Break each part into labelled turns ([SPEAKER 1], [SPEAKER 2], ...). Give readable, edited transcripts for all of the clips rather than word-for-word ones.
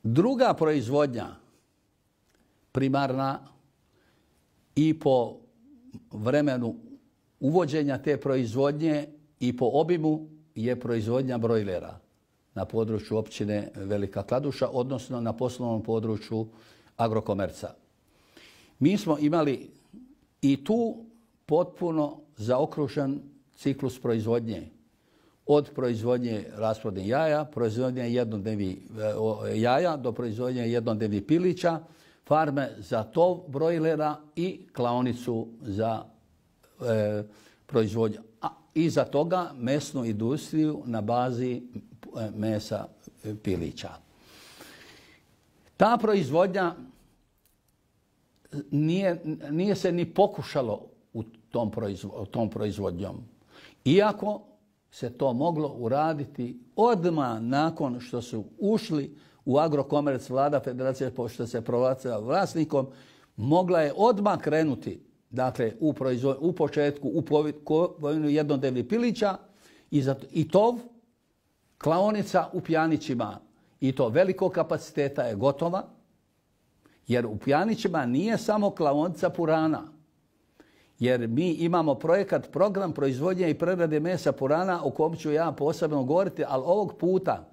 [SPEAKER 1] Druga proizvodnja, primarna, i po vremenu uvođenja te proizvodnje i po obimu je proizvodnja brojlera na području općine Velika Kladuša, odnosno na poslovnom području Agrokomerca. Mi smo imali i tu potpuno zaokružen ciklus proizvodnje. Od proizvodnje rasplodnih jaja, proizvodnje jednodnevnih jaja do proizvodnje jednodnevnih pilića, farme za tov brojlera i klaonicu za proizvodnju. A iza toga mesnu industriju na bazi mesa pilića. Ta proizvodnja nije se ni pokušalo u tom proizvodnjom. Iako se to moglo uraditi odmah nakon što su ušli u Agrokomerc, vlada Federacije, pošto se proglasila vlasnikom, mogla je odmah krenuti, dakle, u početku u kupovinu jednodnevnih pilića i tov, klaonica u Pjanićima, i to velikog kapaciteta je gotova, jer u Pjanićima nije samo klaonica purana, jer mi imamo program proizvodnje i prerade mesa purana o kojem ću ja posebno govoriti, ali ovog puta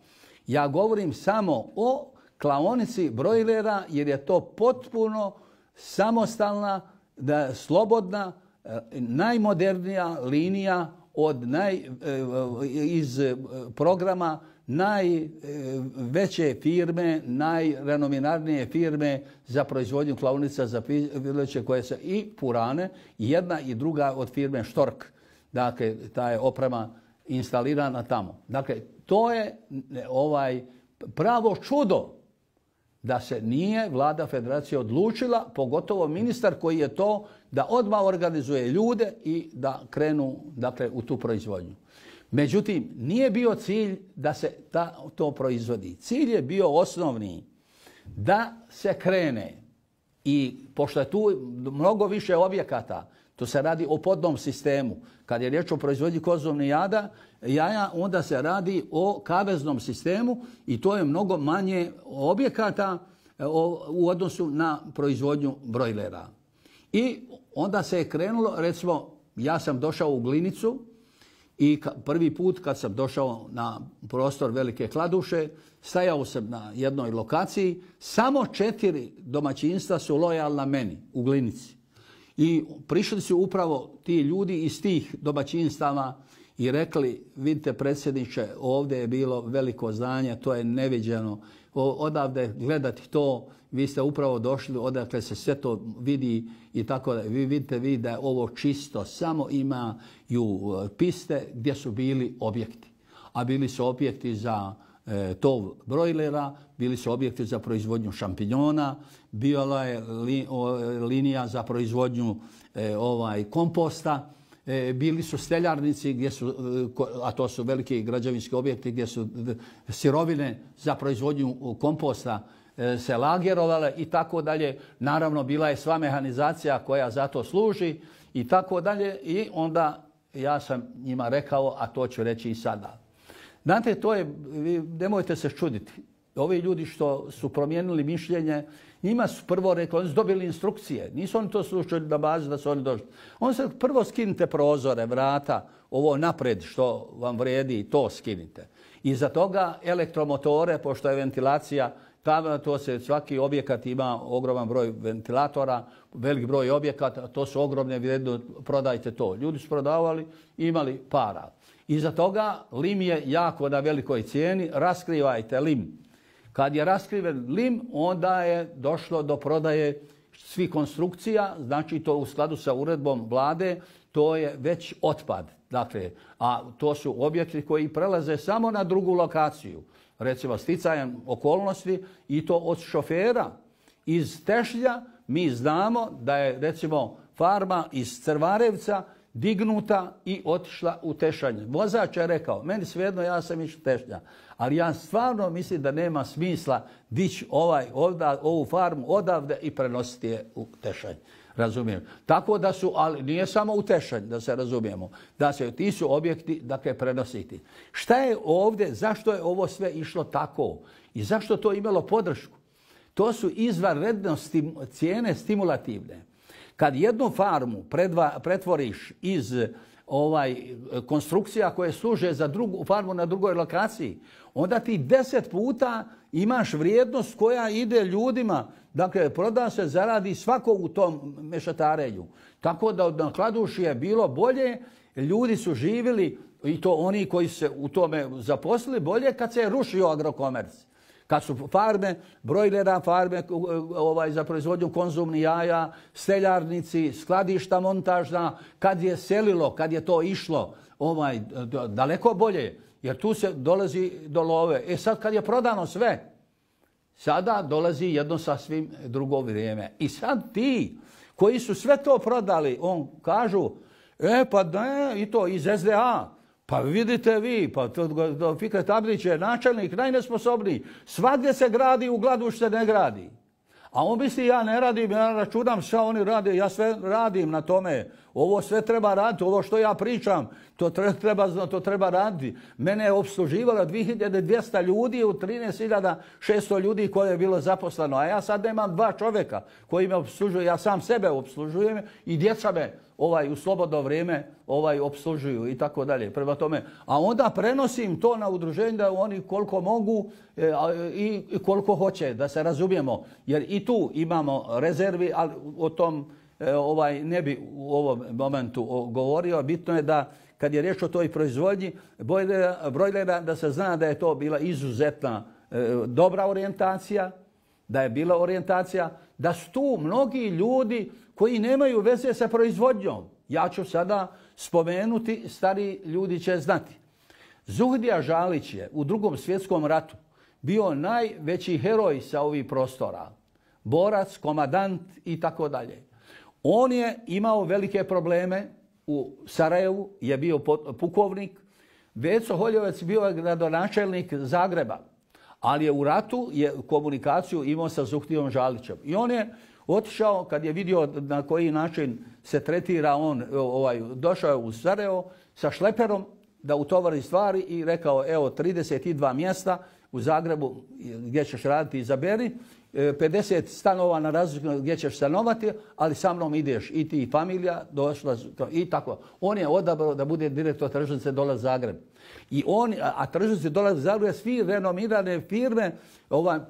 [SPEAKER 1] ja govorim samo o klaonici brojlera, jer je to potpuno samostalna, slobodna, najmodernija linija iz programa najveće firme, najrenominarnije firme za proizvodnju klaonica za pileće koje se i purane, jedna i druga od firme Štork. Dakle, ta je oprema instalirana tamo. Dakle, to je pravo čudo da se nije vlada Federacije odlučila, pogotovo ministar koji je to, da odmah organizuje ljude i da krenu, dakle, u tu proizvodnju. Međutim, nije bio cilj da se to proizvodi. Cilj je bio osnovni da se krene, i pošto je tu mnogo više objekata, to se radi o podnom sistemu. Kad je riječ o proizvodnji kozovnih jaja, onda se radi o kaveznom sistemu i to je mnogo manje objekata u odnosu na proizvodnju brojlera. I onda se je krenulo, recimo, ja sam došao u Glinicu i prvi put kad sam došao na prostor Velike Kladuše, stajao sam na jednoj lokaciji, samo 4 domaćinstva su lojalna meni u Glinici. I prišli su upravo ti ljudi iz tih domaćinstava i rekli, vidite predsjedniče, ovdje je bilo veliko zdanje, to je neviđeno, odavde gledati to, vi ste upravo došli, odakle se sve to vidi i tako da. Vi vidite da je ovo čisto, samo imaju piste gdje su bili objekti. A bili su objekti za tov brojlera, bili su objekti za proizvodnju šampinjona, bila je linija za proizvodnju komposta, bili su steljarnici, gdje su, a to su veliki građevinski objekti gdje su sirovine za proizvodnju komposta se lagerovale i tako dalje. Naravno, bila je sva mehanizacija koja za to služi i tako dalje. I onda ja sam njima rekao, a to ću reći i sada. Znate, to je, nemojte se čuditi. Ovi ljudi što su promijenili mišljenje, njima su prvo rekli, oni su dobili instrukcije. Nisu oni to slušali na bazi da su oni došli. Oni se prvo skinite prozore, vrata, ovo napred što vam vrijedi, to skinite. Iza toga elektromotore, pošto je ventilacija, to se svaki objekat ima ogroman broj ventilatora, velik broj objekata, to su ogromne vrijednosti, prodajte to. Ljudi su prodavali, imali para. Iza toga lim je jako na velikoj cijeni, raskrivajte lim. Kad je raskriven lim, onda je došlo do prodaje svih konstrukcija, znači to u skladu sa uredbom vlade, to je već otpad. Dakle, a to su objekti koji prelaze samo na drugu lokaciju. Recimo, sticajem okolnosti i to od šofera iz Tešnja mi znamo da je, recimo, farma iz Crvarevca dignuta i otišla u Tešanj. Vozač je rekao, meni svejedno, ja sam išao Tešnja, ali ja stvarno mislim da nema smisla dići ovu farmu odavde i prenositi je u Tešanj. Razumijem. Tako da su, ali nije samo u Tešanj, da se razumijemo, da se ti su objekti, dakle, prenositi. Šta je ovdje, zašto je ovo sve išlo tako? I zašto to imalo podršku? To su izvanredno cijene stimulativne. Kad jednu farmu pretvoriš iz konstrukcija koje služe za drugu farmu na drugoj lokaciji, onda ti 10 puta imaš vrijednost koja ide ljudima. Dakle, proda se, zaradi svako u tom mešetarenju. Tako da na Kladuši je bilo bolje, ljudi su živjeli, i to oni koji se u tome zaposlili, bolje kad se je rušio agrokomerc. Kad su farme, brojlera, farme za proizvodnju konzumnih jaja, seljarnici, skladišta montažna, kad je selilo, kad je to išlo, daleko bolje, jer tu se dolazi do love. Sad kad je prodano sve, sada dolazi jedno sasvim drugo vrijeme. I sad ti koji su sve to prodali, kažu, pa ne, i to iz SDA. Pa vidite vi, pa Fikret Abdić je načelnik najnesposobniji. Svagdje se gradi, u Gladuš se ne gradi. A on misli, ja ne radim, ja računam šta oni rade, ja sve radim na tome. Ovo sve treba raditi, ovo što ja pričam, to treba raditi. Mene je obsluživalo 2200 ljudi u 13.600 ljudi koje je bilo zaposleno. A ja sad nemam 2 čovjeka koji me obslužuju, ja sam sebe obslužujem i djeca me u slobodno vrijeme obslužuju i tako dalje. Prema tome, a onda prenosim to na udruženje da oni koliko mogu i koliko hoće, da se razumijemo. Jer i tu imamo rezervi, ali o tom ne bi u ovom momentu govorio. Bitno je da kad je riječ o toj proizvodnji brojlera, da se zna da je to bila izuzetna dobra orijentacija, da je bila orijentacija, da su tu mnogi ljudi koji nemaju veze sa proizvodnjom. Ja ću sada spomenuti, stari ljudi će znati. Zuhdija Žalić je u Drugom svjetskom ratu bio najveći heroj sa ovih prostora. Borac, komadant i tako dalje. On je imao velike probleme u Sarajevu, je bio pukovnik. Veco Holjevac bio gradonačelnik Zagreba, ali je u ratu komunikaciju imao sa Zuhdijom Žalićem. I on je otišao, kad je vidio na koji način se tretira on, došao je u Sarajevo sa šleperom da utovari stvari i rekao, evo 32 mjesta u Zagrebu gdje ćeš raditi, izaberi, 50 stanova na razliku gdje ćeš stanovati, ali sa mnom ideš i ti i familija, došla i tako. On je odabrao da bude direktor tržnice Dolaz Zagreb. A tržnice Dolaz Zagreb, svi renomirane firme,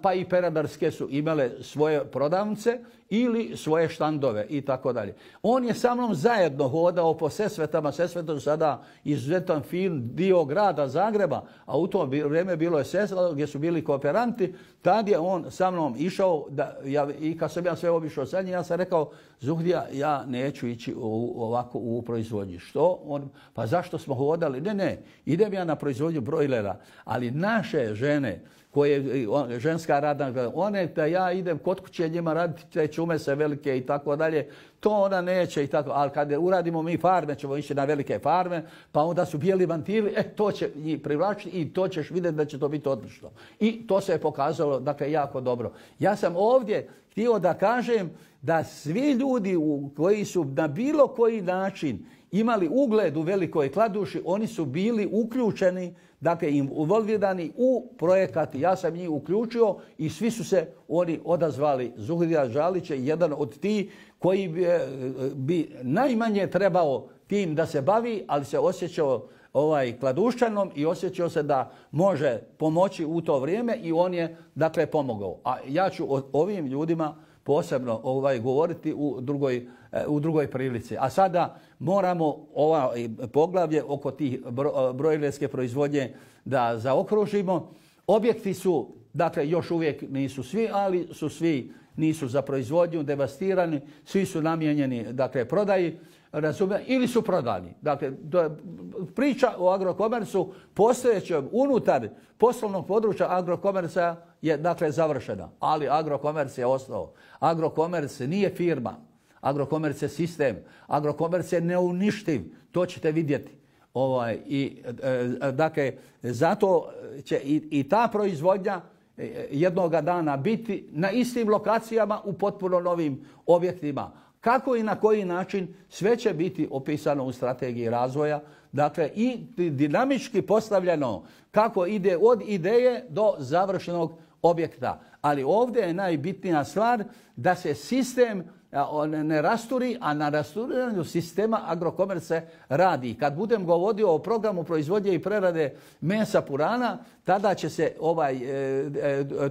[SPEAKER 1] pa i peradarske su imale svoje prodavnice ili svoje štandove i tako dalje. On je sa mnom zajedno hodao po Sesvetama. Sesvetom sada izuzetan fin dio grada Zagreba, a u to vrijeme bilo je Sesveto gdje su bili kooperanti. Tad je on sa mnom išao i kad sam ja sve obišao sa njim, ja sam rekao, Zuhdija, ja neću ići ovako u proizvodnji. Što? Pa zašto smo hodali? Ne, idem ja na proizvodnju brojlera, ali naše žene, ženska radna, one da ja idem kod kuće njima raditi te čume se velike i tako dalje, to ona neće i tako, ali kad uradimo mi farme, ćemo ići na velike farme, pa onda su bijeli vantili, to će njih privlačiti i to ćeš vidjeti da će to biti odlično. I to se je pokazalo, dakle, jako dobro. Ja sam ovdje htio da kažem da svi ljudi koji su na bilo koji način imali ugled u Velikoj Kladuši, oni su bili uključeni, dakle involvirani u projekat. Ja sam njih uključio i svi su se oni odazvali. Zuhdija Žalić je jedan od tih koji bi najmanje trebao tim da se bavi, ali se osjećao Kladuščanom i osjećao se da može pomoći u to vrijeme i on je, dakle, pomogao. A ja ću o ovim ljudima posebno govoriti u drugoj prilici. A sada moramo poglavlje oko tih brojlerske proizvodnje da zaokružimo. Objekti su, dakle, još uvijek nisu svi, ali su svi, nisu za proizvodnju, devastirani, svi su namijenjeni, dakle, prodaji, ili su prodani. Dakle, priča o agrokomercu postojećem unutar poslovnog područja agrokomerca je, dakle, završena. Ali agrokomerc je ostao. Agrokomerc nije firma. Agrokomerc je sistem. Agrokomerc je neuništiv. To ćete vidjeti. Dakle, zato će i ta proizvodnja jednoga dana biti na istim lokacijama u potpuno novim objektima. Kako i na koji način, sve će biti opisano u strategiji razvoja. Dakle, i dinamički postavljeno kako ide od ideje do završenog objekta. Ali ovdje je najbitnija stvar da se sistem ne rasturi, a na rasturiranju sistema Agrokomerc radi. Kad budem govorio o programu proizvodnje i prerade mesa purana, tada će se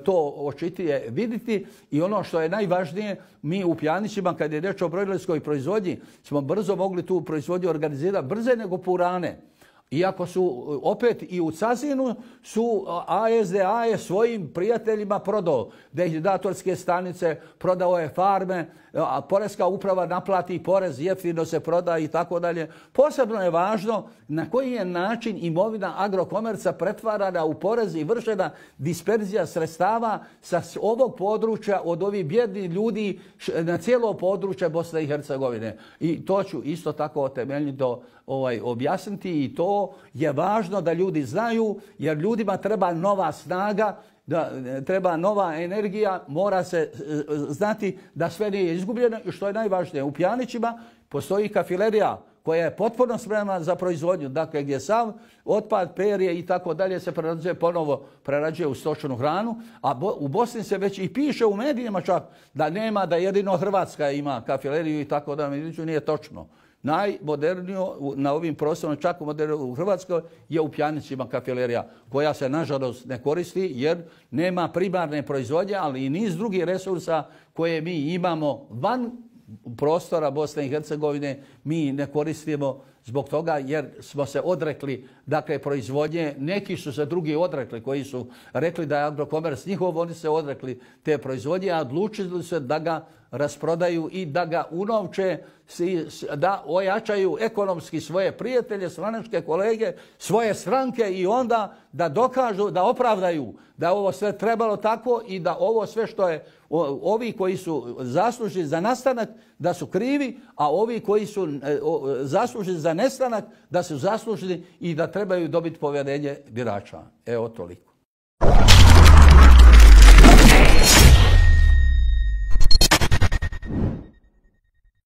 [SPEAKER 1] to očitije vidjeti i ono što je najvažnije, mi u Pjanićima, kad je reč o brojlerskoj proizvodnji, smo brzo mogli tu proizvodnju organizirati, brže nego purane. Iako su opet i u Cazinu su ASDA je svojim prijateljima prodao dehidratorske stanice, prodao je farme, a Poreska uprava naplati porez, jeftino se proda i tako dalje. Posebno je važno na koji je način imovina Agrokomerca pretvarana u porez i vršena disperzija sredstava sa ovog područja od ovih bjednih ljudi na cijelo područje Bosne i Hercegovine. I to ću isto tako temeljito objasniti i to je važno da ljudi znaju, jer ljudima treba nova snaga, da treba nova energija, mora se znati da sve nije izgubljeno i što je najvažnije. U Pjanićima postoji kafilerija koja je potpuno spremna za proizvodnju, dakle gdje sav otpad, perje i tako dalje se prerađuje u stočnu hranu, a u Bosni se već i piše u medijima čak da nema, da jedino Hrvatska ima kafileriju i tako dalje, međutim nije točno. Najmoderniju na ovim prostorima, čak u Hrvatskoj, je u Pjanićima kafilerija, koja se nažalost ne koristi jer nema primarne proizvodnje, ali i niz drugih resursa koje mi imamo van prostora Bosne i Hercegovine mi ne koristimo zbog toga jer smo se odrekli dakle proizvodnje. Neki su se drugi odrekli koji su rekli da je Agrokomerc njihov, oni se odrekli te proizvodnje, a odlučili su da ga rasprodaju i da ga unovče, da ojačaju ekonomski svoje prijatelje, stranačke kolege, svoje stranke i onda da dokažu, da opravdaju da ovo sve trebalo tako i da ovo sve što je ovi koji su zaslužni za nastanak da su krivi, a ovi koji su zaslužni za nestanak da su zaslužni i da trebaju dobiti povjerenje birača. Evo toliko.